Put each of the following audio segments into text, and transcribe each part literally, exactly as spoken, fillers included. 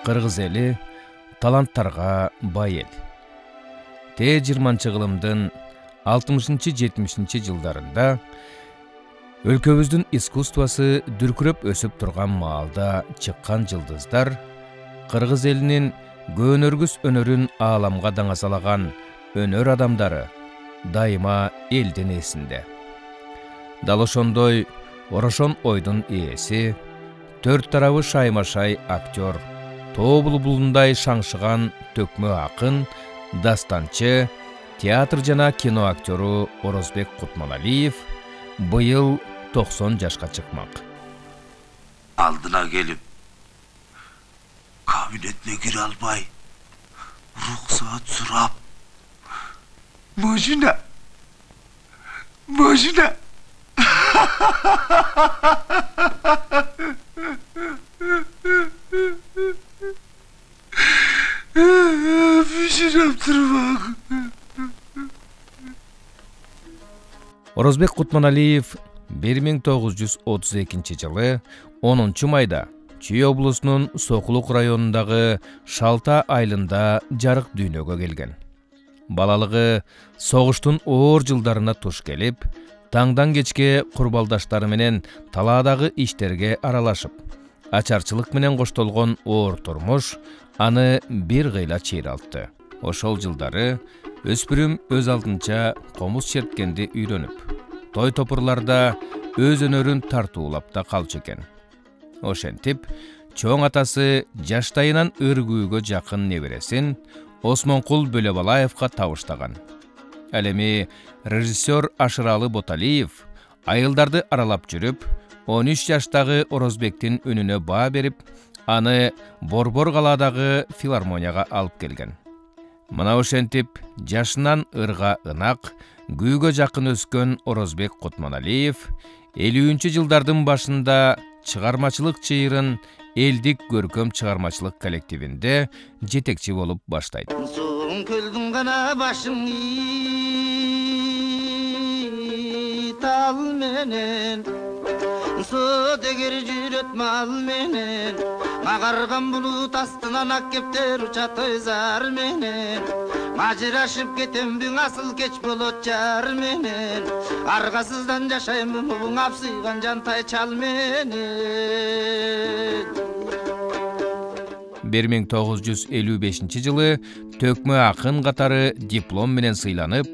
кыргыз эли таланттарга бай эл. Те жыйырманчы кылымдын алтымышынчы жетимишинчи жылдарында өлкөбүздүн искусствосу дүркүрөп өсүп турган маалда чыккан жылдыздар кыргыз элинин көөнөргүс өнөрүн ааламга даңасалаган өнөр адамдары дайыма элдин эсинде. Дал ошондой орошон ойдун ээси, төрт тарабы шайма-шай актер, тоо булбулундай шаңшыган төкмө акын, дастанчы, театр жана кино актеру Орозбек Кутманалиев быйыл токсон жашка чыкмак. Алдына келип, кабинетине кире албай, уруксаат сурап, Машина, машина. Биширап турбак. Орозбек Кутманалиев бир миң тогуз жүз отуз экинчи жылы онунчу майда Чүй облусунун Сокулук районундагы Шалта айылында жарык дүйнөгө келген. Балалыгы согуштун оор жылдарына туш келип, таңдан кечке курбалдаштары менен талаадагы иштерге аралашып, ачарчылык менен коштолгон оор турмуш аны бир кыйла чыйралтты. Ошол жылдары өспүрүм өз алдынча комуз черткенди үйрөнүп, той топурларда өз өнөрүн тартуулап да калчу экен. Ошентип, чоң атасы жаштайынан ыргүүгө жакын небересин Осмонкул Бөлөбалаевка табыштаган. Ал эми режиссер Ашыралы Боталиев айылдарды аралап жүрүп, он үч жаштагы Орозбектин үнүнө баа берип, аны Борбор калаадагы филармонияга алып келген. Мына ошентип, жашынан ырга ынак, күүгө жакын өскөн Орозбек Кутманалиев элүүнчү жылдардын башында чыгармачылык чыйырын элдик көркөм чыгармачылык коллективинде жетекчи болуп баштайт. Суун көлдүн гана башын тал менен, суу дегер жүрөт мал менен, агарган булут астынан ак кептер учат ойзар менен, мажырашып кетембиң асыл кеч болот жар менен, аргасыздан жашаймын буң апсыйган жантай чал менен. бир миң тогуз жүз элүү бешинчи жылы төкмө акын катары диплом менен сыйланып,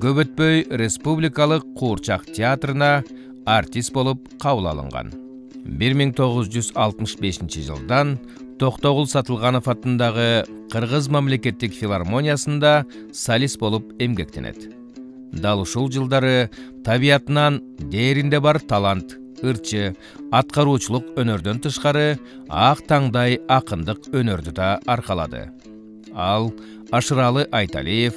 көп өтпөй Республикалык Куурчак театрына артист болуп кабыл алынган. бир миң тогуз жүз алтымыш бешинчи жылдан Токтогул Сатылганов атындагы Кыргыз мамлекеттик филармониясында солист болуп эмгектенет. Дал ушул жылдары табиятынан дээринде бар талант, ырчы, аткаруучулук өнөрдөн тышкары ак таңдай акындык өнөрдү да аркалады. Ал Ашыралы Айталиев,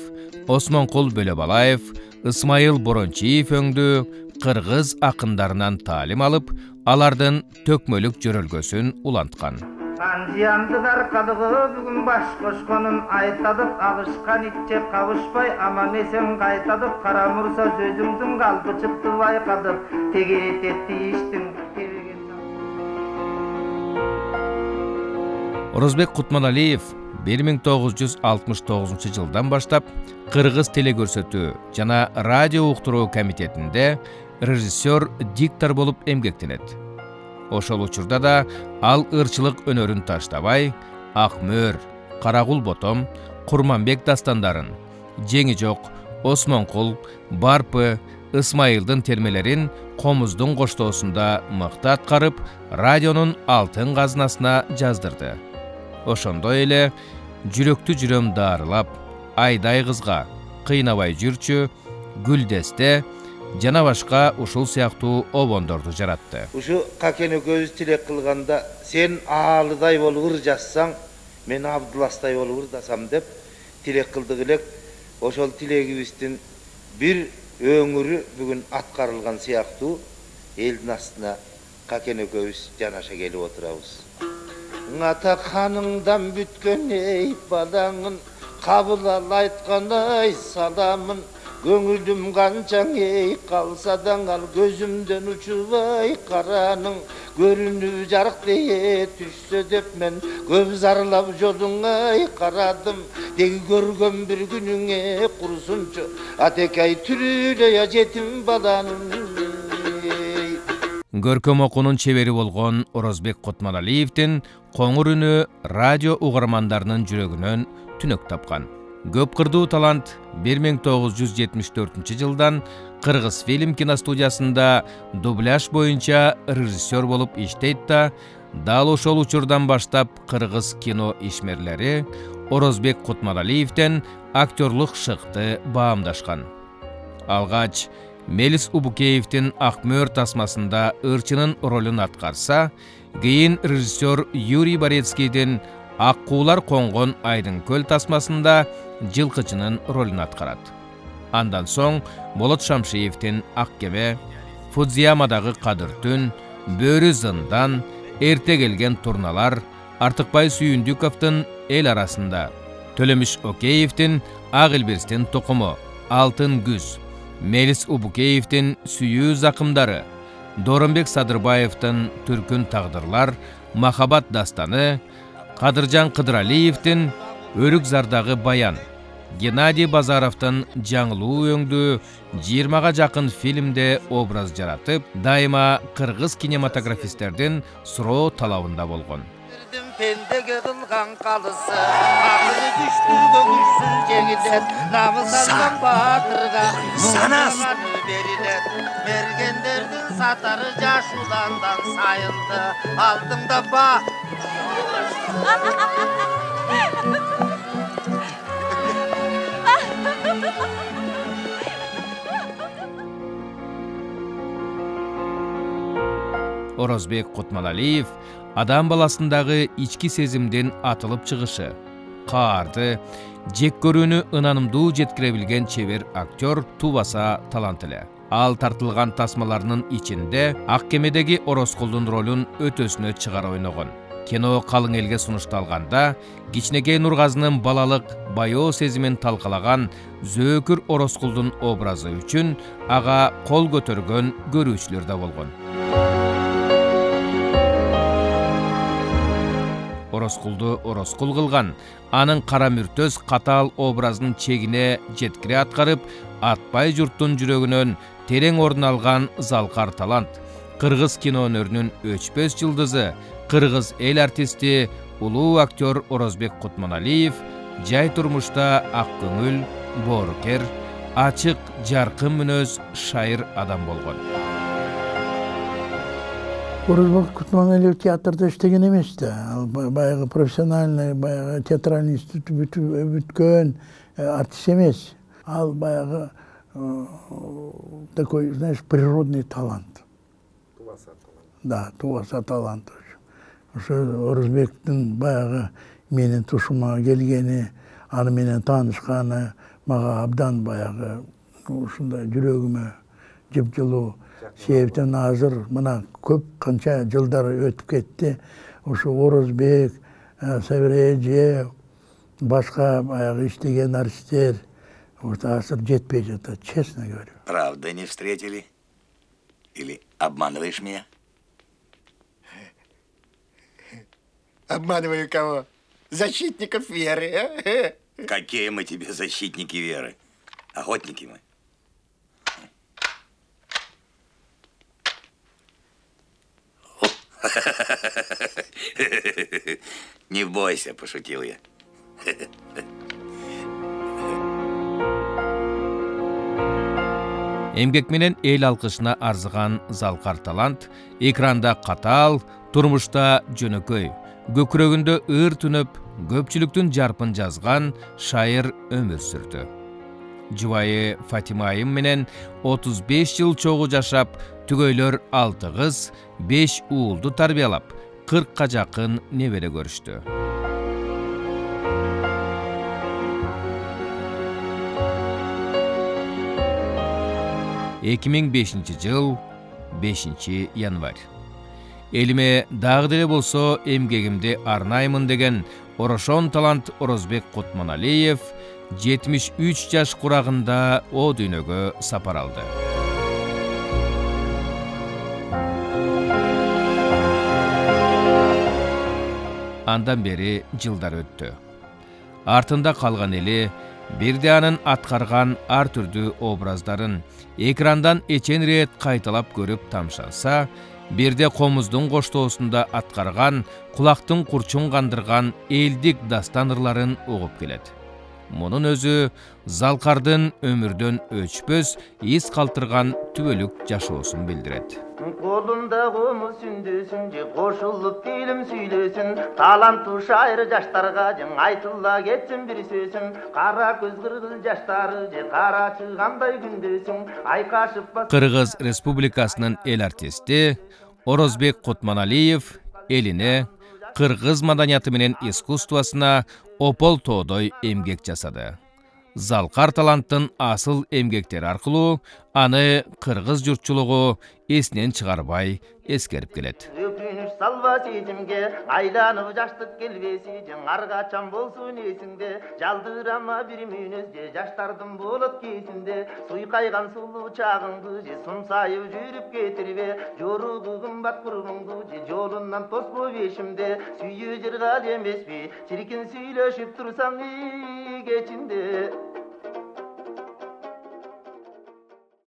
Осмонкул Бөлөбалаев, Ысмайыл Борончиев өңдүү кыргыз акындарынан таалим алып, алардын төкмөлүк жөрөлгөсүн уланткан. Анжиянды даркалыгы бүгүн баш кошконун айтадып, алышкан итче кабышпай, аман эсен кайтадып, кара мурса сөзүңдүн калпы чыкты байкадып, тегерет этти иштин кереген. Орозбек Кутманалиев бир миң тогуз жүз алтымыш тогузунчу жылдан баштап Кыргыз телекөрсөтүү жана радио уктуруу комитетинде режиссер, диктор болуп эмгектенет. Ошол учурда да ал ырчылык өнөрүн таштабай, Акмөр, Карагул Ботом, Курманбек дастандарын, Жеңи жок, Осмонкул, Барпы, Ысмайылдын термелерин комуздун коштоосунда мыкты аткарып, радионун алтын казынасына жаздырды. Ошондой эле Жүрөктү жүрөм даарылап, Айдай кызга, Кыйнабай жүрчү, Гүлдесте жана башка ушул сыяктуу обондорду жаратты. Ушу Какен экөөбүз тилек кылганда, сен Аалыдай болуп ыр жазсаң, мен Абдуластай болуп ырдасам деп тилек кылдык элек. Ошол тилегибиздин бир өңүрү бүгүн аткарылган сыяктуу элдин астына Какен экөөбүз жанаша келип отурабыз. Ата ханыңдан бүткөн эй балаңын, кабыл ал айткан ай саламын, Көңүлүм канчаң ей калса даңал көзүмдөн учубай караның көрүнүп жарык дее түшсө деп мен көп зарлап жолуңай карадым деги көргөн бир күнүңө курсунчу атекай түрүлөй жетим баланын. Көркөм окуунун чебери болгон Орозбек Кутманалиевдин коңур үнү радио угармандарынын жүрөгүнөн түнөк тапкан. Көп кырдуу талант бир миң тогуз жүз жетимиш төртүнчү жылдан Кыргыз фильм киностудиясында дубляж боюнча режиссер болуп иштейт да, дал ошол учурдан баштап кыргыз кино ишмерлери Орозбек Кутманалиевден актерлук шыкты баамдашкан. Алгач Мелис Убукеевдин Ак мөөр тасмасында ырчынын ролун аткарса, кийин режиссер Юрий Борецкийдин Ак куулар коңгон Айдын көл тасмасында жылкычынын ролун аткарат. Андан соң Болот Шамшиевдин Ак кеме, Фудзиямадагы Кадыр түн, Бөрү зындан, Эрте келген турналар, Артыкбай Сүйүндүковдун Эл арасында, Төлөмүш Океевдин Ак Илбирстин тукуму, Алтын күз, Мелис Убукеевдин Сүйүү закымдары, Доромбек Садырбаевдин Түркүн тагдырлар, Махабат дастаны, Кадыржан Кыдыралиевдин Өрүк зардагы баян, Геннадий Базаровдун жаңылуу өңдүү жыйырмага жакын фильмде образ жаратып, дайыма кыргыз кинематографисттердин суроо талабында болгон. Пендеге кылган калысы, акылы күчтүүгө күчсүз жеңилет, намыс алган баатырга муңдаган берилет. Мергендердин сатары жаш уландан сайылды, алдыңда ба. Орозбек Кутманалиев адам баласындагы ички сезимдин атылып чыгышы, каарды, жек көрүүнү ынанымдуу жеткире билген чебер актер тубаса талант эле. Ал тартылган тасмаларынын ичинде Ак кемедеги Орозкулдун ролун өтөсүнө чыгара ойногон. Кино калың элге сунушталганда, Кичинекей Нургазынын балалык, баяоо сезимин талкалаган Зөөкүр Орозкулдун образы үчүн ага кол көтөргөн көрүүчүлөр да болгон. Орозкулду Орозкул кылган, анын кара мүртөз катаал образын чегине жеткире аткарып, атпай журттун жүрөгүнөн терең ордун алган залкар талант, кыргыз кино өнөрүнүн өчпөс жылдызы, кыргыз эл артисти, улуу актер Орозбек Кутманалиев жай турмушта ак көңүл, боорукер, ачык, жаркын мүнөз шайыр адам болгон. Орозбек Кутманалиев театрда иштеген эмес да. Ал баягы профессиональный, баягы театральный институт бүткөн артист эмес. Ал баягы такой, знаешь, природный талант. Тубаса талант. Да, тубаса талант. Ошо Орозбектин баягы менин тушума келгени, аны менен таанышканы мага абдан баягы ушундай жүрөгүмө жыпжылуу. Себептен азыр мына көп канча жылдар өтүп кетти. Ошо Орозбек, Сабир эже, башка баягы иштеген артисттер азыр жетпей жатат, честно говорю. Правда не встретили? Или обманываешь меня? Обманываю кого? Защитников веры, а? Какие мы тебе защитники веры? Охотники мы. Не бойся, пошутил я. Эмгек менен эл алкышына арзыган залкар талант экранда катаал, турмушта жөнөкөй, көкүрөгүндө ыр түнөп, көпчүлүктүн жарпын жазган шайыр өмүр сүрдү. Жубайы Фатима айым менен отуз беш жыл чогуу жашап, түгөйлөр алты кыз, беш уулду тарбиялап, кыркка жакын небере көрүштү. эки миң бешинчи жыл бешинчи январь. Элиме дагы деле болсо эмгегимди арнаймын деген орошон талант Орозбек Кутманалиев жетимиш үч жаш курагында о дүйнөгө сапар алды. Андан бери жылдар өттү. Артында калган эли бирде анын аткарган ар түрдүү образдарын экрандан эчен рет кайталап көрүп тамшанса, бирде комуздун коштоосунда аткарган, кулактын курчун кандырган элдик дастан ырларын угуп келет. Мунун өзү Залкардын өмүрдөн өчпөс из калтырган түбөлүк жашоосун билдирет. Колунда комуз сүндөсүн же кошулуп фильм сүйлөсүн, таланттуу шайыр жаштарга же айтыла кетсин бир сөзүн, кара көз кыргыз жаштары же карачы кандай күндөсүн, айкашып бас. Кыргыз Республикасынын эл артисти Орозбек Кутманалиев элине, кыргыз маданияты менен искусствосуна опол тоодой эмгек жасады. Залкар таланттын асыл эмгектери аркылуу аны кыргыз журтчулугу эсинен чыгарбай эскерип келет. Өкүнүч салба сезимге, айланып жаштык келбеси же аргачан болсун эсиңде, жалдырама бир мүнөз же жаштардын болот кесинде, суйкайган сулуу чагыңды же сумсайып жүрүп кетирбе, жоругу кымбат курбуңду же жолунан тоспо бешимде, сүйүү жыргал эмеспи, чиркин сүйлөшүп турсаң үй кечинде.